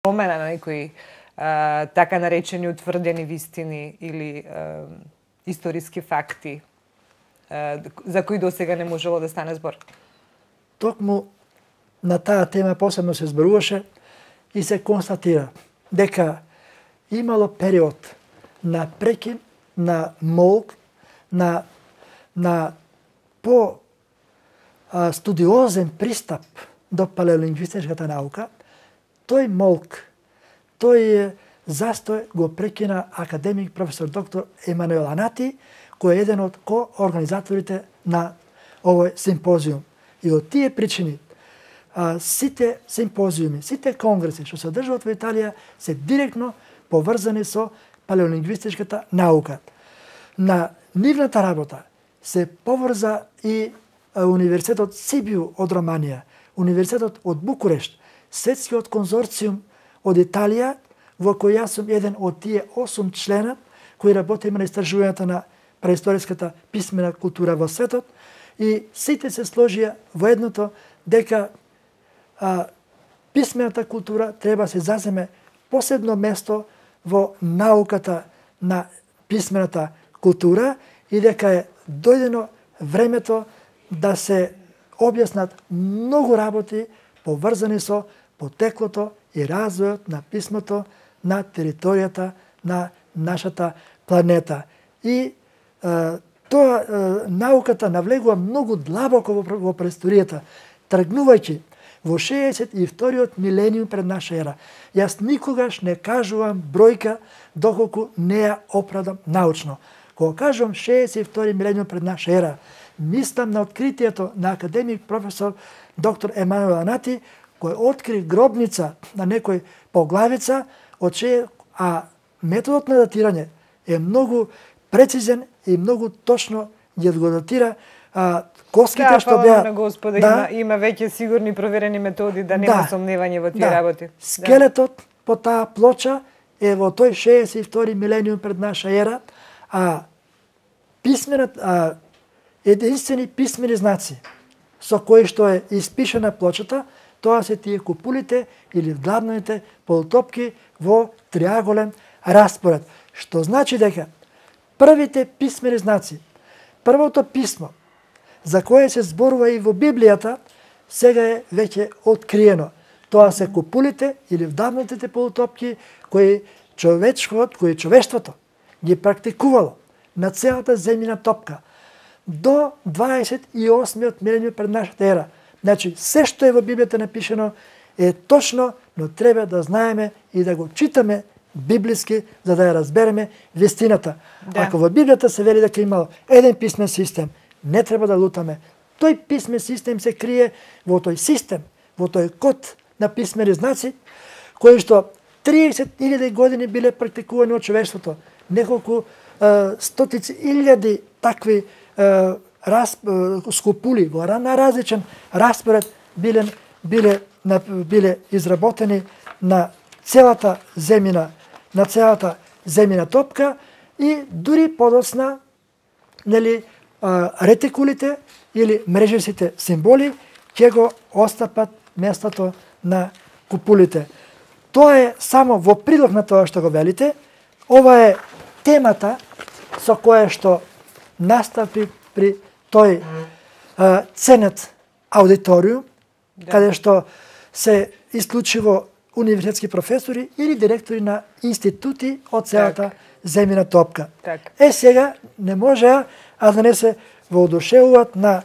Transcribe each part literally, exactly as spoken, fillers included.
промена на некои а, така наречени утврдени вистини или а, историски факти а, за кои досега не можело да стане збор? Токму на таа тема посебно се зборуваше и се констатира дека имало период на прекин, на молк, на, на по а, студиозен пристап до палеолингвистичката наука. Тој молк, тој застој го прекина академик професор доктор Емануел Анати, кој е еден од коорганизаторите на овој симпозиум. И од тие причини, а, сите симпозиуми, сите конгреси што се одржуваат во Италија се директно поврзани со палеолингвистичката наука. На нивната работа се поврза и Универзитетот Сибиу од Романија, Универзитетот од Букурешт, Светскиот конзорциум од Италија, во кој јас сум еден од тие осум члена кои работиме на истражувањето на преисториската писмена култура во светот, и сите се сложија во едното дека а, писмената култура треба се заземе посебно место во науката на писмената култура и дека е дојдено времето да се објаснат многу работи поврзани со потеклото и развојот на писмото на територијата на нашата планета. И е, тоа е, науката навлегува многу длабоко во, во преисторијата, тргнувајќи во шеесет и вториот милениум пред наша ера. Јас никогаш не кажувам бројка доколку не ја оправдам научно. Кога кажувам шеесет и втори милениум пред наша ера, мислам на откритието на академик професор доктор Емануел Анати, кој откри гробница на некој поглавица, од чие, а методот на датирање е многу прецизен и многу точно ја го датира а, коските да, што беа... на Господа, да, има, има веќе сигурни проверени методи да нема да, сомневање во тие да, работи. Скелетот да. По таа плоча е во тој шеесет и втори милениум пред наша ера, а писменот, а, единствени писмени знаци со кои што е испишана плочата, тоа се тие купулите или вдлабнаните полутопки во триаголен распоред. Што значи дека првите писмени знаци, првото писмо за кое се зборува и во Библијата, сега е веќе откриено. Тоа се купулите или вдавнатите полутопки кои човечкот, кои човештвото ги практикувало на целата земјина топка до дваесет и осмиот милениум пред нашата ера. Значи, се што е во Библијата напишено е точно, но треба да знаеме и да го читаме библиски, за да ја разбереме вистината. Да. Ако во Библијата се вели дека имало еден писмен систем, не треба да лутаме. Тој писмен систем се крие во тој систем, во тој код на писмени знаци, кои што триесет илјади години биле практикувани од човештвото. Неколку е, стотици илјади такви е, раз, е, скупули во на различен распоред биле, биле, на, биле изработени на целата земјина, на целата земјина топка и дури подоцна, нели, ретикулите или мрежевите символи ќе го остапат местото на купулите. Тоа е само во прилог на тоа што го велите. Ова е темата со која што настапи при тој а, ценет аудиториум, да. Каде што се исклучиво универзитетски професори или директори на институти од целата так. земјина топка. Так. Е, сега не може а да не се воодушевуваат на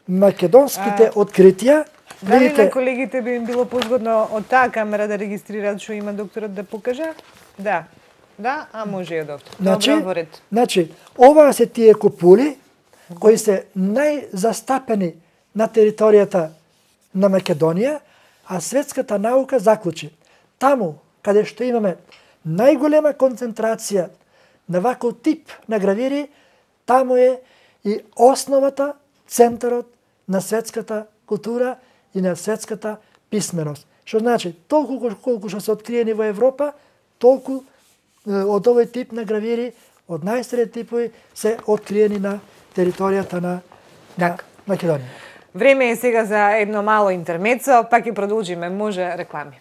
македонските а, откритија. Дали видите... на колегите би им било позгодно од таа камера да регистрираат што има докторот да покаже? Да. Да, а може и доктор. Значи, Добро, воред. Значи, ова се тие купули кои се најзастапени на територијата на Македонија, а светската наука заклучи. Таму, каде што имаме најголема концентрација на ваков тип на гравири, таму е и основата, центарот на светската култура и на светската писменост. Што значи, толку колку што се откриени во Европа, толку од овој тип на гравири, од најстари типови, се откриени на територијата на, на Македонија. Време е сега за едно мало интермецо, пак ќе продолжиме, може реклами.